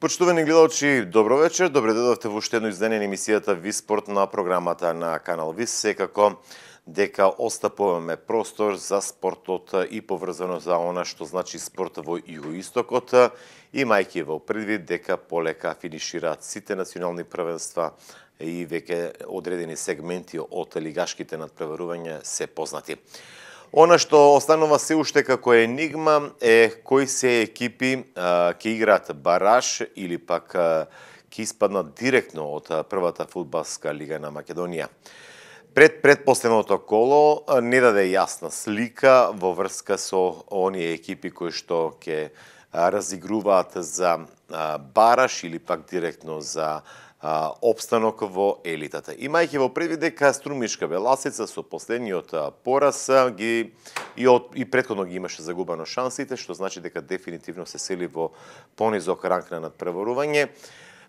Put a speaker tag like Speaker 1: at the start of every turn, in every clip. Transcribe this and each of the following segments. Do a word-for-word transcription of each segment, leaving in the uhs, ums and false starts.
Speaker 1: Почитувани гледачи, добро вечер. Добре дојдовте во уште едно издание на емисијата Ви спорт на програмата на канал ВИС. Секако дека остапуваме простор за спортот и поврзано за она што значи спорт во Југоистокот, имајќи во предвид дека полека финишираат сите национални првенства и веќе одредени сегменти од лигашките надпреварувања се познати. Она што останува се уште како енигма е кои се екипи ќе играат бараж или пак ќе испаднат директно од првата фудбалска лига на Македонија. Пред предпоследното коло не даде јасна слика во врска со оние екипи кои што ќе разигруваат за бараж или пак директно за опстанок во елитата. Имајќи во предвид дека Струмишка Беласица со последниот пораз ги и од и претходно ги имаше загубено шансите, што значи дека дефинитивно се сели во понизок ранг на надпреварување.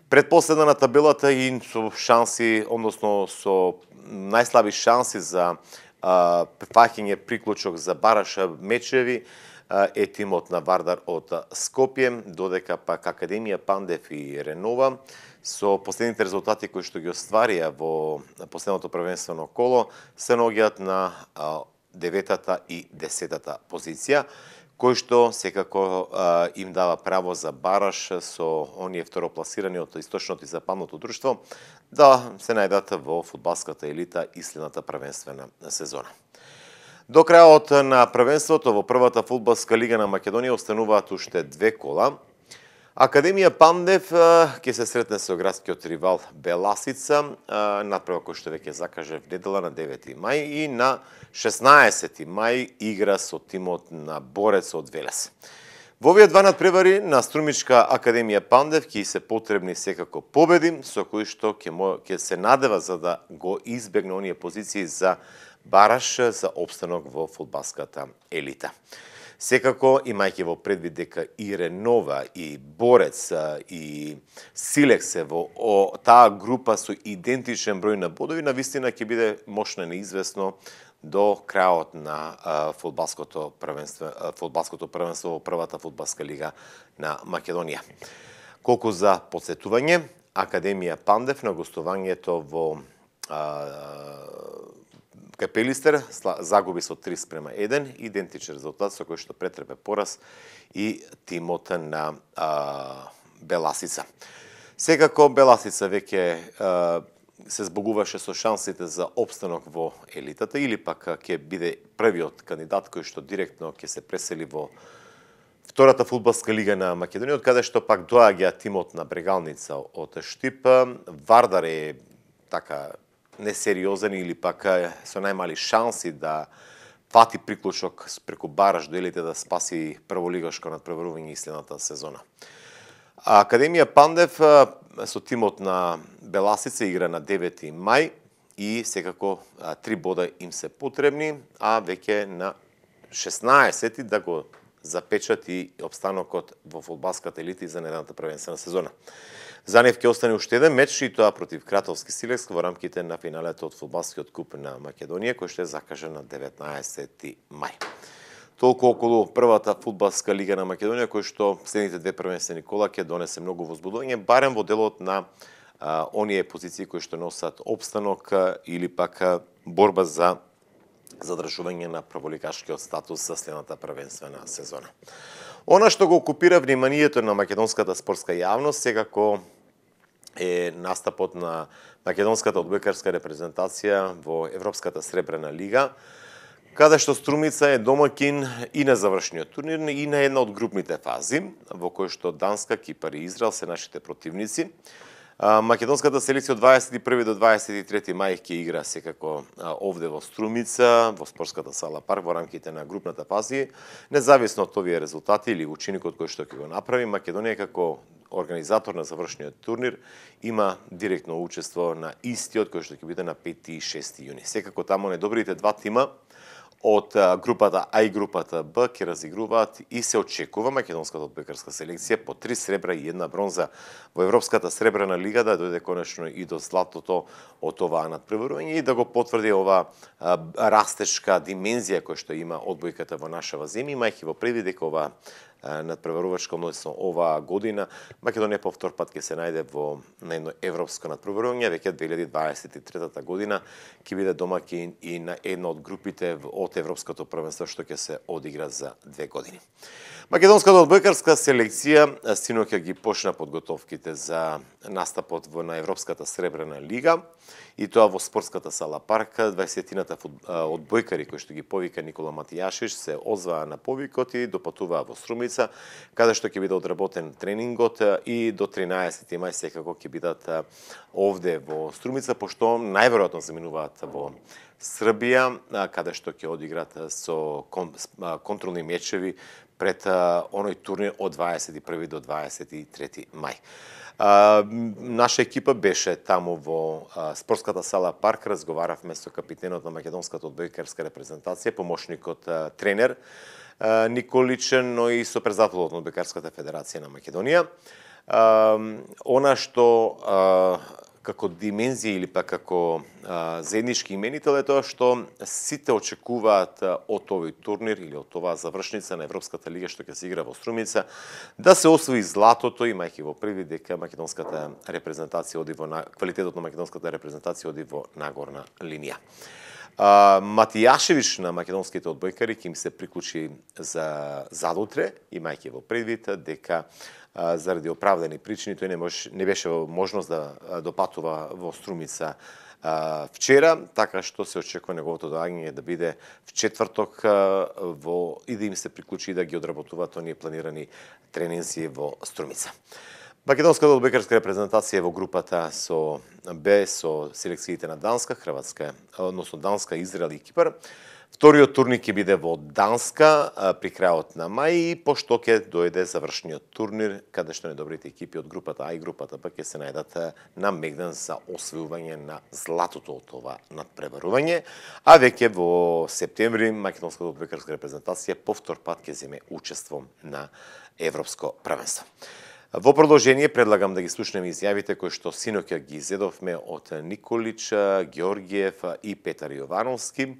Speaker 1: Предпоследна на табелата и со шанси, односно со најслаби шанси за прифаќање приклучок за бараж мечеви е тимот на Вардар од Скопје, додека пак Академија Пандев и Ренова со последните резултати кои што ги остварија во последното првенствено коло се наоѓаат на деветата и десетата позиција, кој што секако а, им дава право за бараж со оние второпласирани од источното и западното друштво да се најдат во фудбалската елита и следната првенствена сезона. До крајот на првенството во првата фудбалска лига на Македонија остануваат уште две кола. Академија Пандев ќе се сретне со градскиот ривал Беласица, надпревар кој што веќе закаже в недела на девети мај и на шеснаесети мај игра со тимот на Борец од Велес. Во овие два надпревари на Струмичка Академија Пандев ќе се потребни секако победи, со кои што ќе ќе се надева за да го избегне оние позиции за бараж за опстанок во фудбалската елита. Секако, имајќи во предвид дека и Ренова, и Борец, и Силекс се во о, таа група со идентичен број на бодови, навистина ќе биде мошно неизвестно до крајот на а, фудбалското првенство, а, фудбалското првенство во првата фудбалска лига на Македонија. Колку за подсетување, Академија Пандев на гостувањето во а, Капелистер загуби со три спрема еден, идентичен резултат со кој што претрпе пораз и тимот на а, Беласица. Секако Беласица веќе а, се збогуваше со шансите за опстанок во елитата или пак ќе биде првиот кандидат кој што директно ќе се пресели во втората фудбалска лига на Македонија, од каде што пак доаѓа тимот на Брегалница од Штип. Вардар е така несериозен или пак со најмали шанси да фати приклучок преку бараж до елите да спаси прволигашко надпреварување и следната сезона. Академија Пандев со тимот на Беласица игра на девети мај и секако три бода им се потребни, а веќе на шеснаесети да го запечати обстанокот во фудбалската елита за наредната првенствена сезона. За нив ќе остане уште еден меч и тоа против Кратовски Силекс во рамките на финалето од фудбалскиот куп на Македонија, кој што е закажан на деветнаесети мај. Толку околу првата фудбалска лига на Македонија, кој што следните две првенствени кола ќе донесе многу возбудување, барем во делот на а, оние позиции кои што носат опстанок а, или пак а, борба за задржување на прволигашкиот статус за следната првенствена сезона. Она што го окупира вниманието на македонската спортска јавност секако е настапот на македонската одбојкарска репрезентација во Европската сребрена лига, каде што Струмица е домакин и на завршниот турнир и на една од групните фази, во кој што Данска, Кипар и Израел се нашите противници. Македонската селекција од дваесет и први до дваесет и трети мај ќе игра секако овде во Струмица, во спортската сала Парк во рамките на групната фаза. Независно од овие резултати или учиникот кој што ќе го направи, Македонија како организатор на завршниот турнир има директно учество на истиот кој што ќе биде на пети и шести јуни. Секако таму недобрите два тима од групата А и групата Б ќе разигруваат и се очекува македонската одбојкарска селекција по три сребра и една бронза во Европската сребрена лига да дојде конечно и до златото од оваа надпреварување и да го потврди ова растешка димензија која што има одбојката во нашава земја, имајќи во предвид дека ова надпреварувачка, односно оваа година. Македонија по втор пат ќе се најде во на едно европско надпреварување, веќе две илјади дваесет и трета година ќе биде домаќин и на една од групите од европското првенство што ќе се одигра за две години. Македонската одбојкарска селекција синоќа ги почна подготовките за настапот во на Европската сребрена лига и тоа во спортската сала Парк. дваесетината одбојкари кои што ги повика Никола Матијашевич се озваа на повикот и допатуваа во Струмица, каде што ќе биде одработен тренингот и до тринаесети мај секако ќе бидат овде во Струмица, пошто најверојатно заминуваат во Србија, каде што ќе одиграт со контролни мечеви пред оној турнир од дваесет и први до дваесет и трети мај. А, наша екипа беше таму во а, спортската сала Парк, разговаравме со капитенот на македонската одбојкарска репрезентација, помошникот а, тренер а, Николичен, но и со председателот на Одбојкарската федерација на Македонија. А, она што а, како димензија или па како а, заеднички именител е тоа што сите очекуваат а, од овој турнир или од оваа завршница на Европската лига што ќе се игра во Струмица да се освои златото, имајќи во први дека македонската репрезентација оди во на... квалитетот на македонската репрезентација оди во нагорна линија. А, Матијашевич на македонските одбојкари ќе им се приклучи за задутре, имајќи во предвид дека а, заради оправдани причини тој не, мож, не беше во можност да допатува во Струмица а, вчера, така што се очекува неговото доаѓање да биде в четврток а, во и да им се приклучи и да ги одработуваат оние планирани тренинзи во Струмица. Македонската одбојкарска репрезентација во групата со Б со селекциите на Данска, Хрватска, односно Данска, Израел и Кипар. Вториот турнир ќе биде во Данска при крајот на мај и пошто ќе дојде завршниот турнир каде што недобрите екипи од групата А и групата Б ќе се најдат на мегдан за освојување на златото од ова надпреварување, а веќе во септември македонската одбојкарска репрезентација повтор пат ќе земе учество на европско првенство. Во продолжение предлагам да ги слушнеме изјавите кои што синоќа ги изедовме од Николич, Георгиев и Петар Јовановски,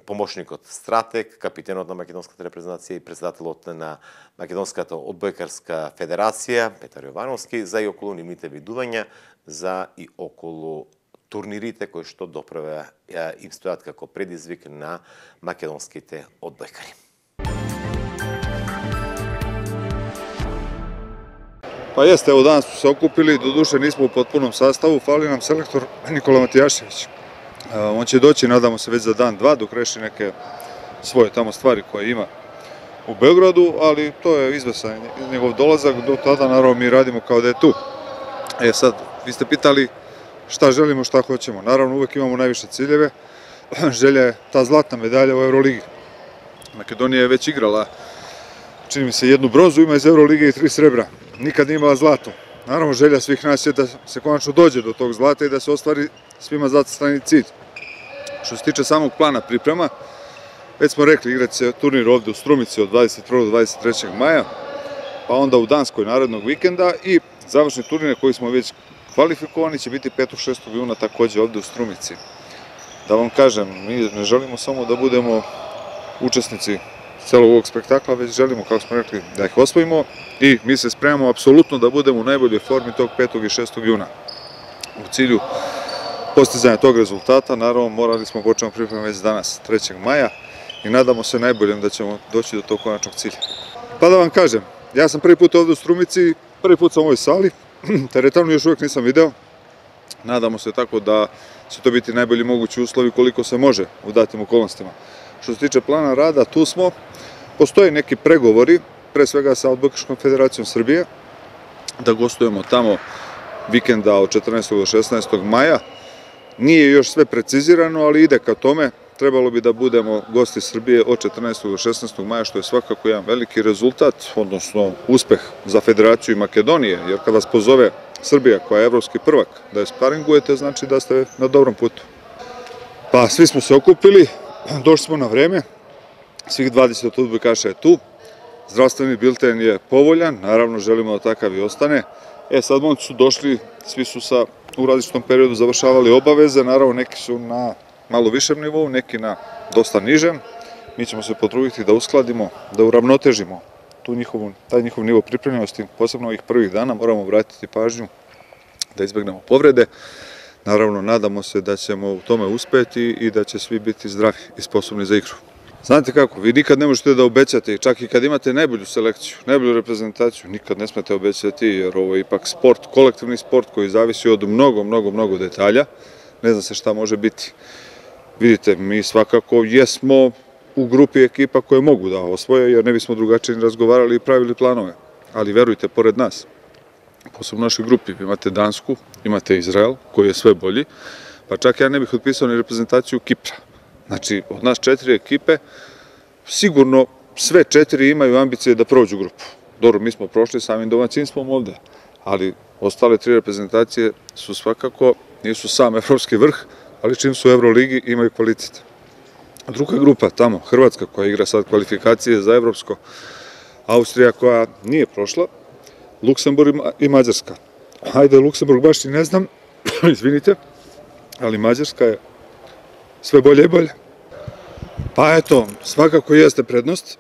Speaker 1: помошникот стратег, капитенот на македонската репрезентација и председателот на Македонската одбојкарска федерација Петар Јовановски за и околу нивните видувања за и околу турнирите кои што доправа им стојат како предизвик на македонските одбојкари.
Speaker 2: Па јесте, ево данас сме се окупили, додуше нисмо у потпуном sastavu, фали нам селектор Никола Матијашевич. Он ќе доći, надамо се, веќе за дан-два, док реши неке своје тамо ствари кои има у Белграду, али тоа е извесан негов долазак, до тада наравно ми радимо као да е ту. Е сад, ви сте питали šta želimo, šta hoćemo. Naravno, uvek imamo najviše ciljeve. Želja je ta zlatna medalja u Euroligi. Makedonija je već igrala, čini mi se, jednu bronzu, ima iz Eurolige i tri srebra. Nikad nije imala zlato. Naravno, želja svih nas je da se konačno dođe do tog zlata i da se ostvari svima zacrtani cilj. Što se tiče samog plana priprema, već smo rekli, igrat će turnir ovde u Strumici od dvadeset prvog do dvadeset trećeg maja, pa onda u Danskoj narednog vikenda i završni turnir koji smo već kvalifikovani će biti petog šestog juna takođe ovde u Strumici. Da vam kažem, mi ne želimo samo da budemo učesnici celog ovog spektakla, već želimo, kako smo rekli, da ih osvojimo i mi se spremamo apsolutno da budemo u najboljoj formi tog petog i šestog juna. U cilju postizanja tog rezultata, naravno, morali smo početi pripremu već danas, trećeg maja, i nadamo se najboljem da ćemo doći do tog konačnog cilja. Pa da vam kažem, ja sam prvi put ovde u Strumici, prvi put sam u ovoj sali, teretanu još uvijek nisam video, nadamo se tako da će to biti najbolji mogući uslovi koliko se može u datim okolnostima. Što se tiče plana rada, tu smo, postoje neki pregovori, pre svega sa Odbojkaškom federacijom Srbije, da gostujemo tamo vikenda od četrnaestog do šesnaestog maja. Nije još sve precizirano, ali ide ka tome. Trebalo bi da budemo gosti Srbije od četrnaestog do šesnaestog maja, što je svakako jedan veliki rezultat, odnosno uspeh za Federaciju Makedonije, jer kada vas pozove Srbija, koja je evropski prvak, da je sparingujete, znači da ste na dobrom putu. Pa svi smo se okupili, došli smo na vreme, svih dvadeset odbojkaša je tu, zdravstveni bilten je povoljan, naravno želimo da takav i ostane. E sad momci su došli, svi su sa, u različitom periodu završavali obaveze, naravno neki su na malo višem nivou, neki na dosta nižem. Mi ćemo se potruditi da uskladimo, da uravnotežimo tu njihovu, taj njihov nivo pripremljenosti, posebno ovih prvih dana, moramo vratiti pažnju da izbegnemo povrede. Naravno, nadamo se da ćemo u tome uspeti i da će svi biti zdravi i sposobni za igru. Znate kako, vi nikad ne možete da obećate, čak i kad imate najbolju selekciju, najbolju reprezentaciju, nikad ne smete obećati, jer ovo je ipak sport, kolektivni sport koji zavisi od mnogo, mnogo, mnogo detalja. Ne zna se šta može biti. Vidite, mi svakako jesmo u grupi ekipa koje mogu da osvoje, jer ne bismo drugačije ni razgovarali i pravili planove. Ali verujte, pored nas, posebno u našoj grupi, imate Dansku, imate Izrael, koji je sve bolji, pa čak ja ne bih otpisao ni reprezentaciju Kipra. Znači, od nas četiri ekipe, sigurno sve četiri imaju ambicije da prođu grupu. Dobro, mi smo prošli samim domaćinstvom ovde, ali ostale tri reprezentacije su svakako, nisu sam evropski vrh, ali čim su u Euroligi imaju kvalitet. Druga grupa tamo, Hrvatska koja igra sad kvalifikacije za evropsko, Austrija koja nije prošla, Luksemburg i Mađarska. Hajde, Luksemburg baš i ne znam, izvinite, ali Mađarska je sve bolje i bolje. Pa eto, svakako jeste prednost.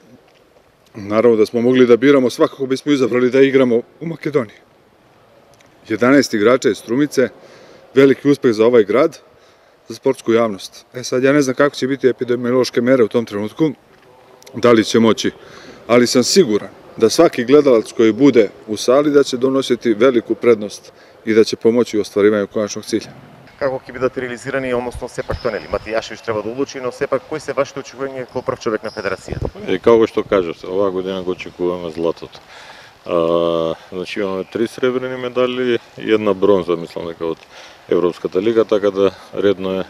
Speaker 2: Naravno da smo mogli da biramo, svakako bismo izabrali da igramo u Makedoniji. jedanaest igrača iz Strumice, veliki uspeh za ovaj grad, za sportsku javnost. E sad, ja ne znam kako će biti epidemiološke mere u tom trenutku, da li će moći, ali sam siguran da svaki gledalac koji bude u sali da će donositi veliku prednost i da će pomoći u ostvarivanju konačnog cilja.
Speaker 1: Како ќе бидат реализирани, односно сепак тоа нели Матијашевиќ треба да одлучи, но сепак кои се вашите очекувања како прв човек на федерацијата?
Speaker 3: Е, како што кажавте, оваа година го очекуваме златото. А, значи имаме три сребрени медали и една бронза, мислам дека од Европската лига, така да редно е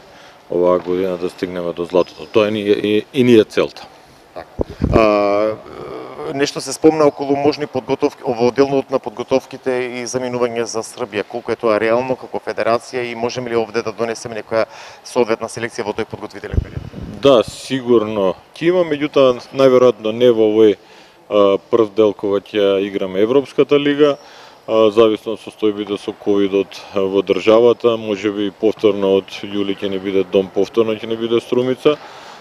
Speaker 3: оваа година да стигнеме до златото. Тоа е и, и, и ни е целта.
Speaker 1: А, нешто се спомна околу можни подготовки, ово делот на подготовките и заминување за Србија. Колку е тоа реално како федерација и можеме ли овде да донесеме некоја соодветна селекција во тој подготвителен период?
Speaker 3: Да, сигурно ќе има, меѓутоа најверојатно не во овој а, прв дел кога ќе играме Европската лига, а, зависно од состојбите со ковидот во државата, можеби повторно од јули ќе не биде Дом, повторно ќе не биде Струмица.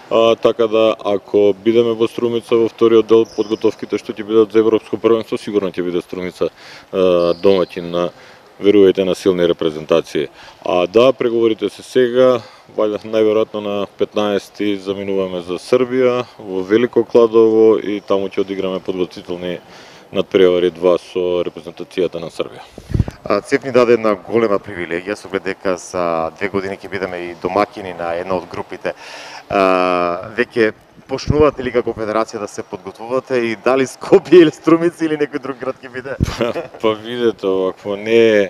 Speaker 3: А, така да, ако бидеме во Струмица во вториот дел, подготовките што ќе бидат за Европско првенство, сигурно ќе биде Струмица а, домаќин на, верувајте, на силни репрезентации. А да, преговорите се сега, валја најверојатно на петнаесети заминуваме за Србија, во Велико Кладово и таму ќе одиграме подготвителни надпревари два со репрезентацијата на Србија.
Speaker 1: ЦЕФ ни даде една голема привилегија, со оглед дека за две години ќе бидеме и домакини на една од групите. А, веќе почнувате ли како федерација да се подготвувате и дали Скопје или Струмица или некој друг град ќе биде?
Speaker 3: Па видете, ако не е,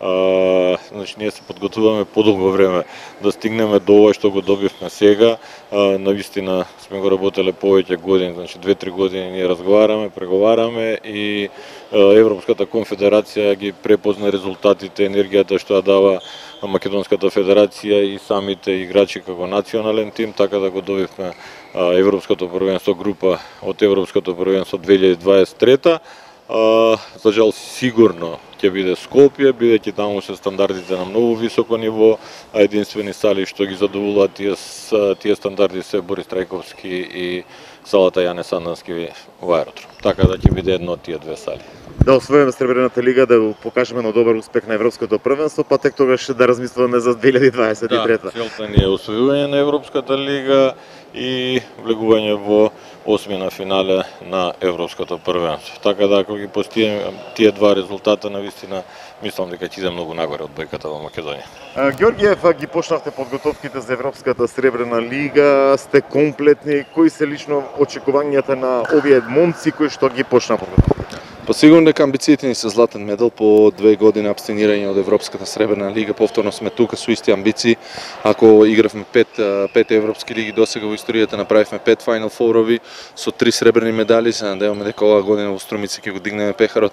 Speaker 3: а, значи ние се подготвуваме подолго време да стигнеме до ова што го добивме сега. А, навистина сме го работеле повеќе години, значи две-три години ние разговараме, преговараме и а, Европската конфедерација ги препозна резултатите, енергијата што ја дава Македонската федерација и самите играчи како национален тим, така да го добивме а, Европското првенство група од Европското првенство две илјади дваесет и трета. А, за жал сигурно ќе биде Скопје, бидејќи таму се стандардите на многу високо ниво, а единствени сали што ги задоволуваат тие, тие стандарди се Борис Трајковски и салата Јане Сандански во аеродром. Така да ќе биде едно од тие две сали.
Speaker 1: Да освоиме Сребрената лига, да го покажеме на добар успех на Европското првенство, па тек тогаш да размислуваме за две илјади дваесет и трета.
Speaker 3: Да, целта ни е освојување на Европската лига и влегување во осмина финале на Европското првенство. Така да ако ги постигнеме тие два резултата, навистина мислам дека ќе иде многу нагоре од бојката во Македонија.
Speaker 1: А, Георгиев, ги почнавте подготовките за Европската Сребрена лига, сте комплетни. Кои се лично очекувањата на овие момци кои што ги почнаа подготовките?
Speaker 4: Па сигурно дека амбициите ни се златен медал по две години абстинирање од Европската Сребрена лига, повторно сме тука со исти амбиции. Ако игравме пет, пет европски лиги досега во историјата, направивме пет Final Four-ови со три сребрени медали, се надеваме дека оваа година во Струмица ќе го дигнеме пехарот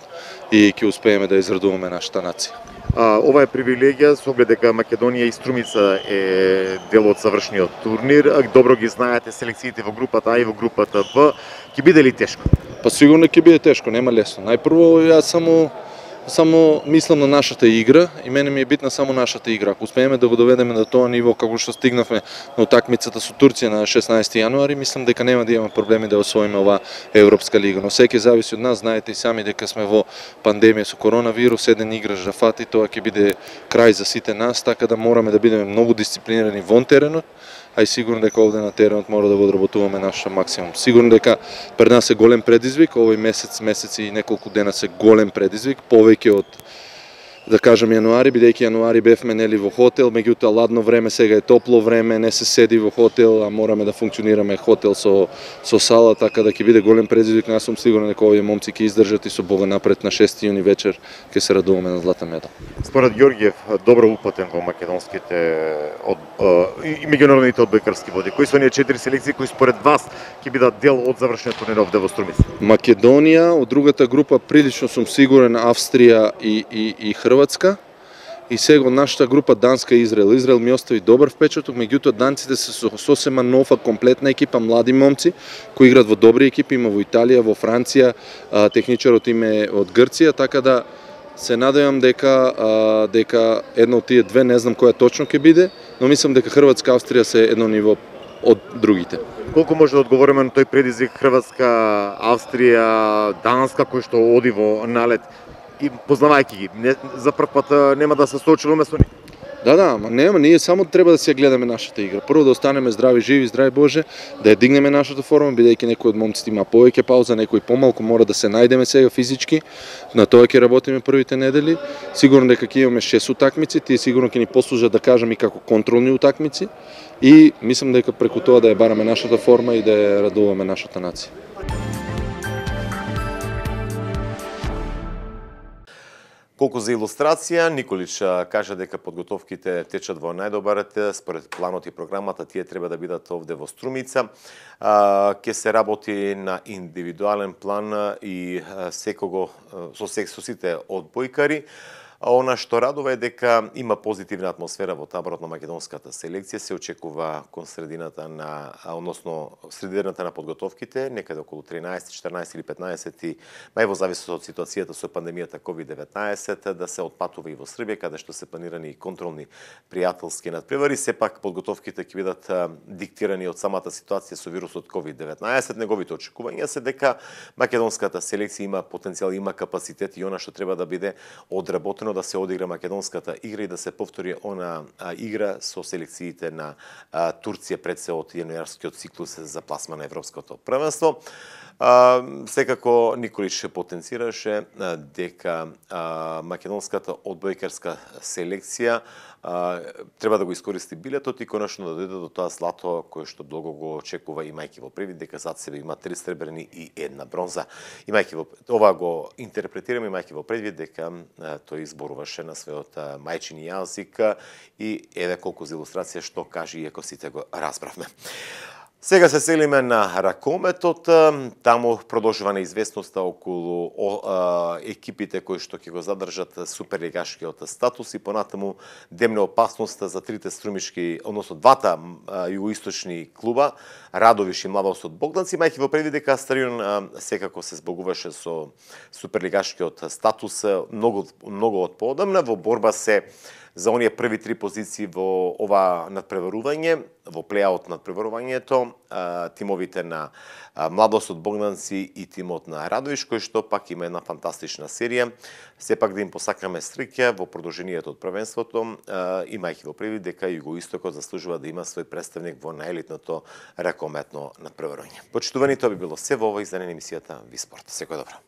Speaker 4: и ќе успееме да израдуваме нашата нација.
Speaker 1: А, ова е привилегија со оглед дека Македонија и Струмица е дел од завршниот турнир. Добро ги знаете селекциите во групата А и во групата В. Ќе биде ли тешко?
Speaker 4: Па сигурно ќе биде тешко, нема лесно. Најпрво јас само Само мислам на нашата игра и мене ми е битна само нашата игра. Ако успееме да го доведеме до тоа ниво како што стигнавме на утакмицата со Турција на шеснаесети јануари, мислам дека нема да имаме проблеми да освоиме оваа Европска лига. Но секој зависи од нас, знаете и сами дека сме во пандемија со коронавирус, еден играш да фати, тоа ќе биде крај за сите нас, така да мораме да бидеме многу дисциплинирани вон теренот, а и сигурно дека овде на теренот мора да го одработуваме нашата максимум. Сигурно дека пред нас е голем предизвик, овој месец, месец и неколку дена се голем предизвик, повеќе од да кажам јануари, бидејќи јануари бевме нели во хотел, меѓутоа ладно време, сега е топло време, не се седи во хотел, а мораме да функционираме хотел со со сала, така да ќе биде голем предизвик. Јас сум сигурен дека овие момци ќе издржат и со Бога напред на шести јуни вечер ќе се радуваме на златен медал.
Speaker 1: Според Ѓорѓиев, добро упатен во македонските од и меѓународните одбојкарски води. Кои се оние четири селекции кои според вас ќе бидат дел од завршниот турнир овде во Струмица?
Speaker 4: Македонија, од другата група прилично сум сигурен Австрија и и и Хрватска. И сега од нашата група Данска и Израел. Израел ми остави добар впечаток, меѓутоа данците се со сосема нова комплетна екипа, млади момци кои играат во добри екипи, има во Италија, во Франција, а, техничарот им е од Грција, така да се надевам дека а, дека една од тие две, не знам која точно ќе биде, но мислам дека Хрватска, Австрија се едно ниво од другите.
Speaker 1: Колку може да одговориме на тој предизвик Хрватска, Австрија, Данска кој што оди во налет? И познавајќи ги, не, за прв пат нема да се соочуваме со нив.
Speaker 4: Да, да, ама нема, ние само треба да си ја гледаме нашата игра. Прво да останеме здрави, живи, здрави Боже, да ја дигнеме нашата форма, бидејќи некој од момците има повеќе пауза, некој помалку, мора да се најдеме сега физички. На тоа ќе работиме првите недели. Сигурно дека ќе имаме шест утакмици, тие сигурно ќе ни послужат да кажам и како контролни утакмици и мислам дека преку тоа да ја бараме нашата форма и да ја радуваме нашата нација.
Speaker 1: Колку за илустрација, Николич кажа дека подготовките течат во најдобар ред, според планот и програмата, тие треба да бидат овде во Струмица. Ќе се работи на индивидуален план и секого со со сите одбојкари. А она што радува е дека има позитивна атмосфера во таборот на македонската селекција, се очекува кон средината на, односно средината на подготовките, некаде околу тринаесет, четиринаесет или петнаесет мај во зависност од ситуацијата со пандемијата ковид деветнаесет, да се отпатува и во Србија, каде што се планирани и контролни пријателски надпревари. Сепак подготовките ќе бидат диктирани од самата ситуација со вирусот ковид деветнаесет. Неговите очекувања се дека македонската селекција има потенцијал, има капацитет и она што треба да биде одработено да се одигра македонската игра и да се повтори она а, игра со селекциите на а, Турција пред се од јануарскиот циклус за пласма на Европското првенство. А, секако Николич потенцираше а, дека а, македонската одбојкарска селекција а, треба да го искористи билетот и конечно да дојде до тоа злато кое што долго го очекува, имајќи во предвид дека зад себе има три сребрени и една бронза. Имајќи во ова го интерпретираме, имајќи во предвид дека а, тој изборуваше на својот мајчини јазик и еве колку за илустрација што кажи, иако сите го разбравме. Сега се селиме на ракометот, таму продолжува неизвестноста околу о, а, екипите кои што ќе го задржат суперлигашкиот статус и понатаму демне опасноста за трите струмишки, односно двата а, југоисточни клуба, Радовиш и Младост од Богданци, имајќи во предвид дека Старион а, секако се збогуваше со суперлигашкиот статус многу многу од поодамна во борба се за оние први три позиции во ова надпреварување, во плеаут надпреварувањето, тимовите на Младост од Богданци и тимот на Радовиш, кој што пак има една фантастична серија. Сепак да им посакаме среќа во продолжението од првенството, имајќи во предвид дека Југоистокот заслужува да има свој представник во најелитното ракометно надпреварување. Почитувани, тоа би било се во ова издание на емисијата Виспорт. Секој добро.